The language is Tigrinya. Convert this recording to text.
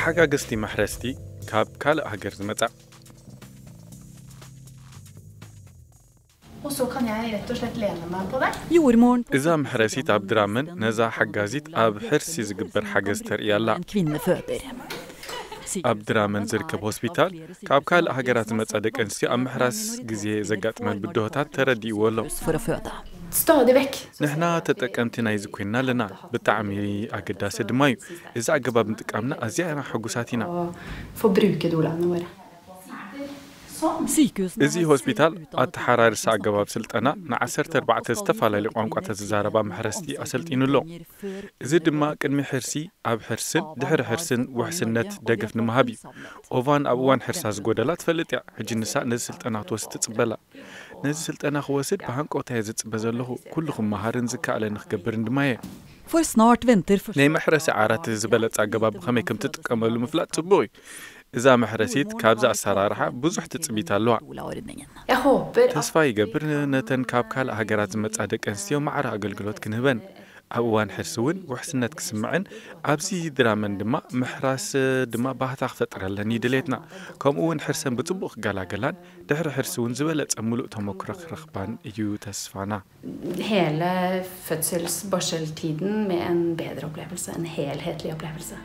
ሓጋግዝቲ መሕረስቲ ካብ ካልእ ሃገር ዝመጻ። Og så kan jeg rett og slett lene meg på deg. Jordmoren på እዛ መሕረሲት ኣብ ድራመን ነዛ ሓጋዚት ኣብ ሕርሲ ዝግበር ሓገዝ ተርእያ ኣላ። En kvinne føder. ኣብ ድራመን ዝርከብ ሆስፒታል ካብ ካልእ ሃገራት ዝመጻ ደቂ ኣንስትዮ ኣብ ምሕራስ ግዜ ዘጋጥመን ብድሆታት ተረዲእዎ ኣሎ። For å føde. Stadig vekk. ንሕና ተጠቀምቲ ናይዚ ኮይንና ኣለና። ብጣዕሚ ኣገዳሲ ድማ እዩ። እዚ ኣገባብ ምጥቃምና ኣዝያ ኢና ሕጉሳት ኢና። Og få bruke de ordene våre. Sykehusene እዚ ሆስፒታል ኣተሓራርሳ ኣገባብ ስልጠና ን14 ዝተፈላለዩ ቋንቋታት ዝዛረባ መሕረስቲ ኣሰልጢኑ ኣሎ። እዚ ድማ ቅድሚ ሕርሲ፣ ኣብ ሕርስን ድሕሪ ሕርስን ውሕስነት ደገፍ ንምሃብ እዩ። ኦቫን ኣብ እዋን ሕርሳ ዝጎደላ ትፈልጥ እያ። ሕጂ ንሳ ነዚ ስልጠና ክትወስድ ትጽበላ። ነዚ ስልጠና ክወስድ ብሃንቀውታ እየ ዝጽበ ዘለኹ። ኩሉ ክመሃርን ዝከኣለኒ ክገብርን ድማ እየ። For snart venter første ናይ መሕረሲ ዓራት ዝበለጸ ኣገባብ ብኸመይ ከም ትጥቀመሉ ምፍላጥ ጽቡቕ እዩ። እዛ መሕረሲት ካብዚ ኣሰራርሓ ብዙሕ ትጽቢት ኣለዋ። Ola-ordningen. Jeg håper at ተስፋ ይገብር ነተን ካብ ካልእ ሃገራት ዝመጻ ደቂ ኣንስትዮ ማዕረ ኣገልግሎት ክንህበን፣ ኣብ እዋን ሕርሲ እውን ውሕስነት ክስምዐን ኣብዚ ድራመን ድማ ምሕራስ ድማ ባህታ ክፈጥረለን እዩ ድሌትና። ከምኡ እውን ሕርሰን ብጽቡቕ ክገላገላን ድሕሪ ሕርሲ እውን ዝበለጸ ሙሉእ ተመክሮ ክረኽባን እዩ ተስፋና። Hele fødsels-barseltiden med en bedre opplevelse, en helhetlig opplevelse.